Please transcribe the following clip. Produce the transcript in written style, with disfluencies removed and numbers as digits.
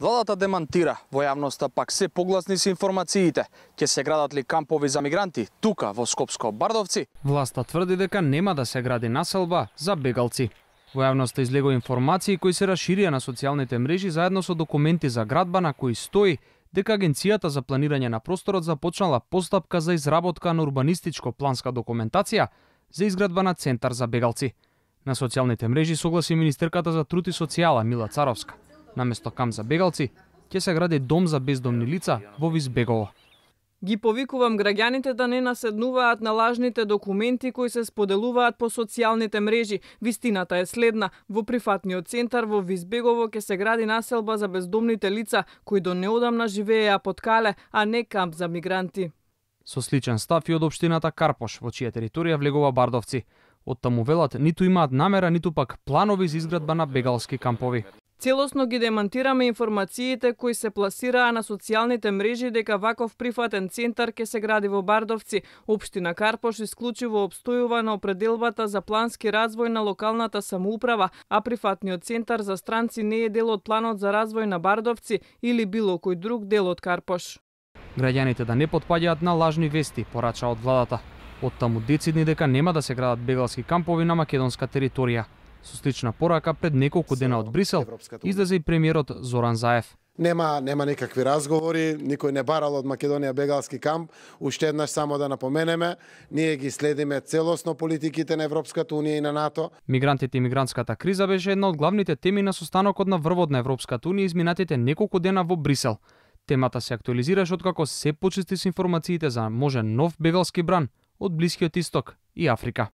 Владата демантира, во јавноста пак се погласни се информациите. Ќе се градат ли кампови за мигранти тука во Скопско-Бардовци? Власта тврди дека нема да се гради населба за бегалци. Во јавноста излегоа информации кои се расширија на социјалните мрежи заедно со документи за градба на кои стои дека Агенцијата за планирање на просторот започнала постапка за изработка на урбанистичко-планска документација за изградба на центар за бегалци. На социјалните мрежи согласи министерката за труд и социјала Мила Царовска. Наместо камп за бегалци, ќе се гради дом за бездомни лица во Визбегово. Ги повикувам граѓаните да не наседнуваат на лажните документи кои се споделуваат по социјалните мрежи. Вистината е следна. Во прифатниот центар во Визбегово ќе се гради населба за бездомните лица кои до неодамна живееа под кале, а не камп за мигранти. Со сличен став и од општината Карпош, во чија територија влегува Бардовци. Од таму велат ниту имаат намера, ниту пак планови за изградба на бегалски кампови. Целосно ги демантираме информациите кои се пласираа на социјалните мрежи дека ваков прифатен центар ќе се гради во Бардовци. Општина Карпош исклучиво обстојува на определбата за плански развој на локалната самоуправа, а прифатниот центар за странци не е дел од планот за развој на Бардовци или било кој друг дел од Карпош. Граѓаните да не потпаѓаат на лажни вести, порача од владата. Од таму децидни дека нема да се градат бегалски кампови на македонска територија. Со слична порака пред неколку дена од Брисел излезе и премиерот Зоран Заев. Нема никакви разговори, никој не барал од Македонија бегалски камп. Уште еднаш само да напоменеме, ние ги следиме целосно политиките на Европската унија и на НАТО. Мигрантите и мигрантската криза беше една од главните теми на состанокот на врвот на Европската унија изминатите неколку дена во Брисел. Темата се актуализираше откако се почисти с информациите за можен нов бегалски бран од Блискиот Исток и Африка.